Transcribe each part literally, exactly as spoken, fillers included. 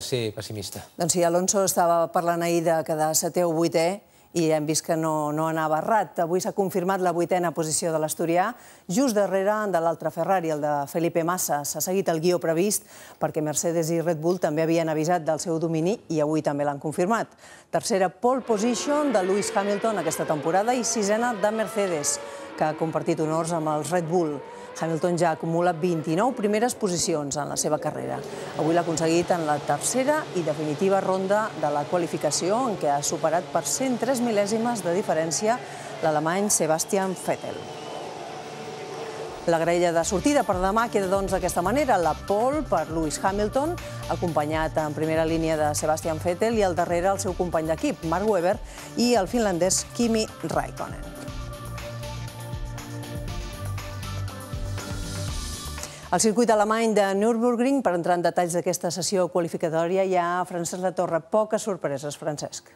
ser pessimista. Doncs sí, Alonso estava parlant ahir de quedar setè o vuitè i hem vist que no, no anava errat. Avui s'ha confirmat la vuitena posició de l'asturià, just darrere de l'altre Ferrari, el de Felipe Massa. S'ha seguit el guió previst perquè Mercedes i Red Bull també havien avisat del seu domini i avui també l'han confirmat. Tercera pole position de Lewis Hamilton aquesta temporada i sisena de Mercedes, que ha compartit honors amb els Red Bull. Hamilton ja acumula vint-i-nou primeres posicions en la seva carrera. Avui l'ha aconseguit en la tercera i definitiva ronda de la qualificació, en què ha superat per cent tres mil·lèsimes de diferència l'alemany Sebastian Vettel. La graella de sortida per demà queda doncs d'aquesta manera. La pole per Lewis Hamilton, acompanyat en primera línia de Sebastian Vettel i al darrere el seu company d'equip, Mark Webber, i el finlandès Kimi Räikkönen. Al circuit alemany de Nürburgring, per entrar en detalls d'aquesta sessió qualificatòria, hi ha Francesc Latorre. Poques sorpreses, Francesc.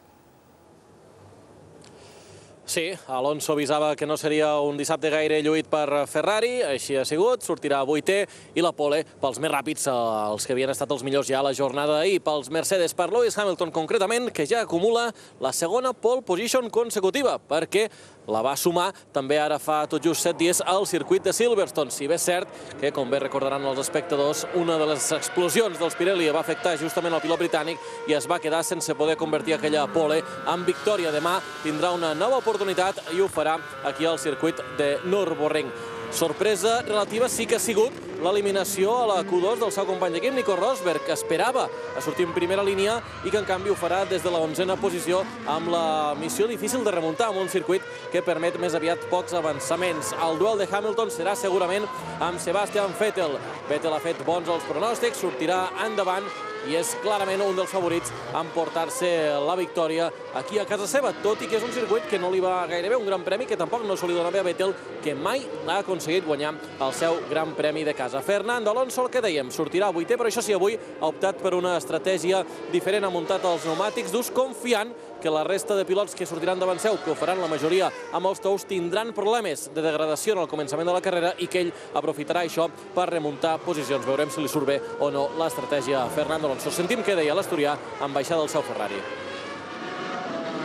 Sí, Alonso avisava que no seria un dissabte gaire lluït per Ferrari, així ha sigut, sortirà vuitè i la pole pels més ràpids, els que havien estat els millors ja a la jornada d'ahir, pels Mercedes, per Lewis Hamilton concretament, que ja acumula la segona pole position consecutiva, perquè la va sumar també ara fa tot just set dies al circuit de Silverstone. Si bé és cert que, com bé recordaran els espectadors, una de les explosions dels Pirelli va afectar justament el pilot britànic i es va quedar sense poder convertir aquella pole en victòria. Demà tindrà una nova oportunitat i ho farà aquí al circuit de Nürburgring. Sorpresa relativa sí que ha sigut l'eliminació a la Q dos del seu company d'equip, Nico Rosberg, que esperava a sortir en primera línia i que en canvi ho farà des de la onzena posició amb la missió difícil de remuntar amb un circuit que permet més aviat pocs avançaments. El duel de Hamilton serà segurament amb Sebastian Vettel. Vettel ha fet bons els pronòstics, sortirà endavant i és clarament un dels favorits a emportar-se la victòria aquí a casa seva, tot i que és un circuit que no li va gaire bé, un gran premi que tampoc no se li dona bé a Vettel, que mai ha aconseguit guanyar el seu gran premi de casa. Fernando Alonso, el que dèiem, sortirà vuitè, però això sí, avui ha optat per una estratègia diferent, ha muntat els pneumàtics durs, confiant que la resta de pilots que sortiran davant seu, que ho faran la majoria amb els tous, tindran problemes de degradació en el començament de la carrera i que ell aprofitarà això per remuntar posicions. Veurem si li surt bé o no l'estratègia a Fernando Alonso. Sentim què deia l'asturià en baixada del seu Ferrari.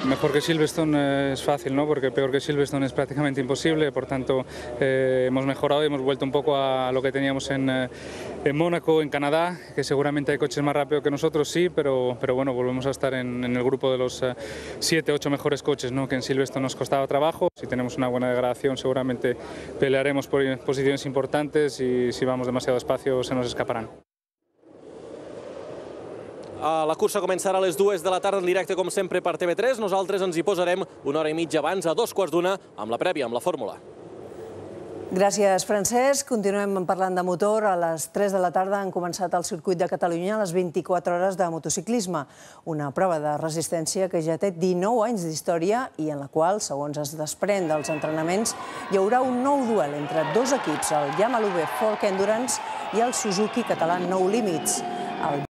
Mejor que Silverstone es fácil, ¿no? Porque peor que Silverstone es prácticamente imposible, por tanto eh, hemos mejorado y hemos vuelto un poco a lo que teníamos en, eh, en Mónaco, en Canadá, que seguramente hay coches más rápidos que nosotros, sí, pero, pero bueno, volvemos a estar en, en el grupo de los eh, siete, ocho mejores coches, ¿no? Que en Silverstone nos costaba trabajo. Si tenemos una buena degradación seguramente pelearemos por posiciones importantes y si vamos demasiado despacio se nos escaparán. La cursa començarà a les dues de la tarda en directe, com sempre, per T V tres. Nosaltres ens hi posarem una hora i mitja abans, a dos quarts d'una, amb la prèvia, amb la fórmula. Gràcies, Francesc. Continuem parlant de motor. A les tres de la tarda han començat el circuit de Catalunya les vint-i-quatre hores de motociclisme, una prova de resistència que ja té dinou anys d'història i en la qual, segons es desprèn dels entrenaments, hi haurà un nou duel entre dos equips, el Yamaha Folk Endurance i el Suzuki català No Limits.